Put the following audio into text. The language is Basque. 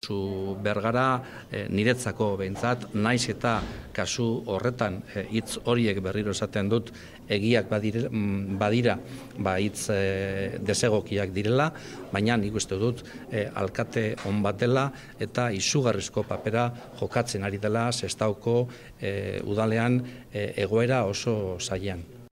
saiatu bergara, niretzako behintzat, naiz eta kasu horretan hitz horiek berriro esaten dut egiak badira, hitz desegokiak direla, baina nik uste dut alkate on bat dela eta izugarrizko papera jokatzen ari dela Sestaoko udalean egoera oso zailean.